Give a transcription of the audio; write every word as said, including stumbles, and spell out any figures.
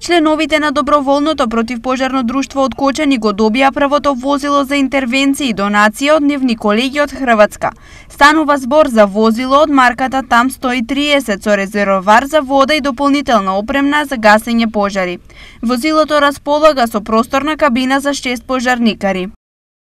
Членовите на доброволното противпожарно друштво од Кочани го добија првото возило за интервенции и донација од нивни колеги од Хрватска. Станува збор за возило од марката Там сто и триесет со резервоар за вода и дополнителна опремна за гасење пожари. Возилото располага со просторна кабина за шест пожарникари.